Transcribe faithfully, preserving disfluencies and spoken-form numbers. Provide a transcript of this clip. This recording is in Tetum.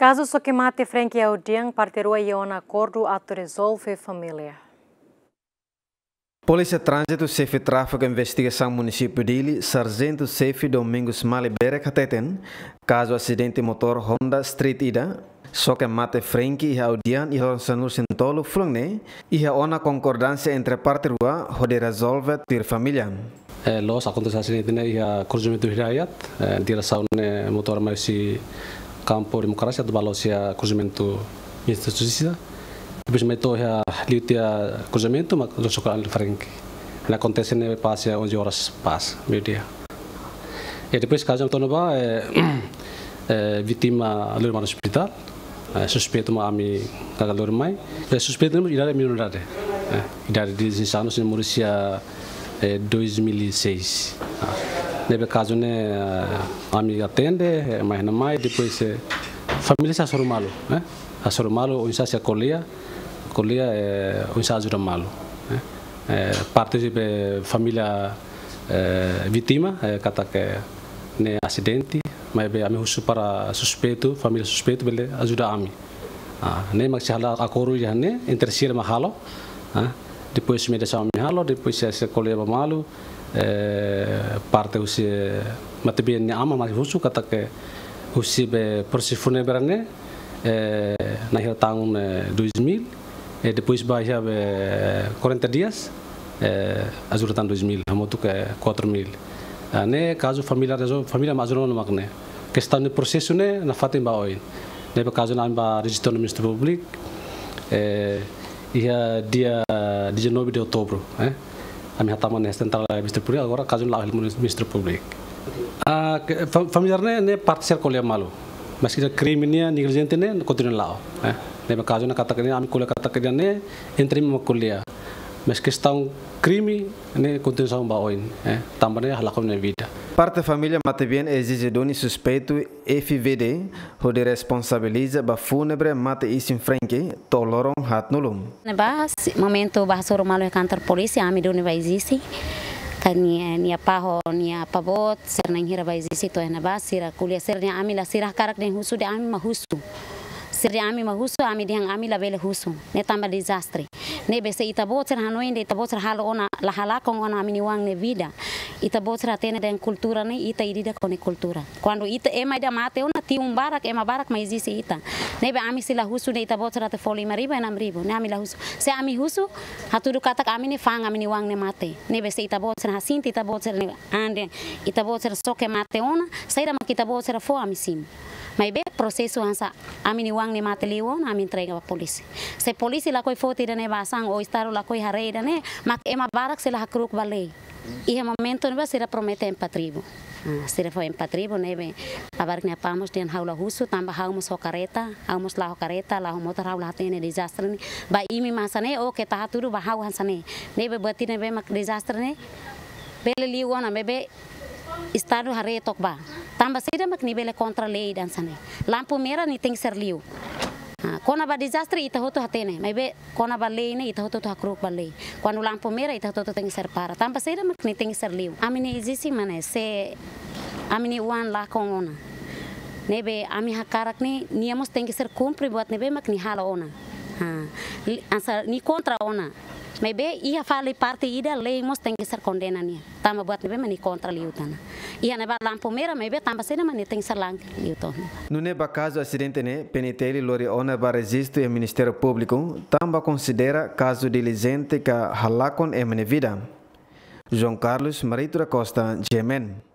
Kazu soke mate Frankie Audian, parte rua iha ona akordu atu rezolve família. Polísia Tránzitu, Xefe Tráfiku Investigasaun Munisípiu Dili, Sarjentu Xefe Domingos Mali Berek hateten, kazu asidente motór Honda Street ida, soke mate Frankie iha Audian iha loron sanulu-resin-tolu fulan ne'e, iha ona konkordánsia entre parte rua hodi rezolve tuir família. Eh, loos akontese asidente ne'e iha kruzimentu Hidayat, eh, diresaun ne'e motór mai husi Kampu Demokrasia atu ba loos iha kruzimentu Ministériu Justisa. Depois mai to'o iha liu tiha kruzimentu, mak soke an Frankie. Ne'e akontese ne'e pas iha onze horas pas, meiudia. E depois kazu to'o ne'ebá, eh, eh, vítima lori mai ospitál. Eh, suspeitu mak ami kazu lori mai. Eh, suspeitu ne'e idade minoridade. Eh, idade dezasseis anos, ne'e moris iha, eh, dois mil e seis. Ah, ne'ebé kazu ne'e, eh, ami atende, eh, mai iha ne'e mai, depois, eh, família sei hasoru malu, eh? Hasoru malu, oinsá sei ko'alia, ko'alia, eh, oinsá ajuda malu, eh? Eh, parte husi família, eh, vítima, eh, katak ne'e asidente, maibé ami husu para suspeitu, família suspeitu bele ajuda ami. Ah, ne'e mak sei halo akordu iha ne'e, entre sira mak halo. Ah, depois mediasaun ami halo, depois sei, sei ko'alia ba malu, eh, parte husi, eh, matebian nia aman mak husu katak husi be prosesu fúnebre ne'e, eh, na'in-hirak tahun, eh, dois mil, eh, depois ba iha be quarenta dias, eh, ajuda tan dois mil, hamutuk quatro mil. Ah, ne'e kazu família rezolve, família mak ajuda ona mak ne'e. Kestaun ne'e prosesu ne'e nafatin ba oin. Ne'ebé kazu ne'e ami ba rejista iha Ministériu Públiku, eh, iha dia dezanove de outubro, eh. Ami hatama iha Sentrál Ministériu Públiku, agora kazu ne'e la'o iha Ministériu Públiku. Ah, ke, fa-, família ne'e, ne'e parte sira ko'alia malu. Maske krime nian, neglijente nian, kontinua la'o, eh. Ne'ebé kazu ne'e katak ne'e, ami ko'alia katak ne'e, entre ami mak ko'alia. Maske kestaun krime ne'e kontinua ba oin, eh, tanba ne'e halakon nia vida. Parte família matebian ezije duni suspeitu F V D hodi responsabiliza ba fúnebre mate isin Frankie to'o loron haatnulu. Ne'ebá, si-, momentu ba hasoru malu iha kantor polísia, ami duni ba ezije. Ka nia, nia apá ho nia apá-boot, sira na'in-hirak ba ezije to'o iha ne'ebá, sira ko'alia sira-nia, ami la, sira hakarak dehan husu dehan ami mak husu. Sira dehan ami mak husu, ami dehan ami labele husu. Ne'e tanba dezastre. Ne'ebé se ita-boot sira hanoin dehan ita-boot sira halo ona, la halakon ona ami-nia oan nia vida. Ita-boot sira hatene dehan kultura ne'e, ita ida-idak ho nia kultura. Kuandu ita ema ida mate ona, tiun barak, ema barak mai ezije ita. Ne'ebé ami sei la husu dehan ita-boot sira atu fó lima ribu, enam ribu. Ne'e ami la husu. Se ami husu, hatudu katak ami ne'e fa'an ami-nia oan ne'e mate. Ne'ebé se ita-boot sira hasente ita-boot sira-nia an dehan ita-boot sira soke mate ona, saida mak ita-boot sira fó ami simu. Maibé prosesu hanesan ami-nia oan ne'e mate liu ona, ami entrega ba polísia. Se polísia lakohi foti ida-ne'e ba asaun ou Estadu lakohi haree ida-ne'e, mak ema barak sei la hakru'uk ba lei. Iha momentu ne'ebá sira promete empat ribu. Ah, sira fó empat ribu ne'ebé, abarak nia apá mós dehan ha'u la husu, tanba ha'u mós ho karreta, ha'u mós la'o ho karreta, la'o ho motór, ha'u la hatene dezastre ne'e. Ba imi mak hanesan ne'e, oke, ita hatudu ba ha'u hanesan ne'e. Ne'ebé buat ida ne'ebé mak dezastre ne'e bele liu ona, maibé Estadu haree took ba. Tanba saida mak nia bele kontra lei hanesan ne'e. Lampu merah ne'e tenke ser liu. Ah, kona-ba dezastre ita hotu hatene, maibé kona-ba lei ne'e ita hotu-hotu hakru'uk ba lei. Kuandu lampu merah ita hotu-hotu tenke ser para. Tanba saida mak nia tenke ser liu. Ami-nia ezije mak ne'e, se ami-nia oan lakon ona, ne'ebé ami hakarak ne'e, nia mós tenke ser kumpre buat ne'ebé mak nia halo ona. Ha, li-, hanesan nia kontra ona. Maibé iha fali parte ida lei mós tenke ser kondena nia. Tanba buat ne'ebé mak nia kontra liután ona. Iha ne'ebá lampu merah, maibé tanba saida mak nia tenke ser la'o liután ona. Nune'e ba kazu asidente ne'e, P N T L lori ona ba rejistu iha Ministériu Públiku, tanba konsidera kazu neglijente ka halakon ema nia vida. João Carlos Marito da Costa, G M N.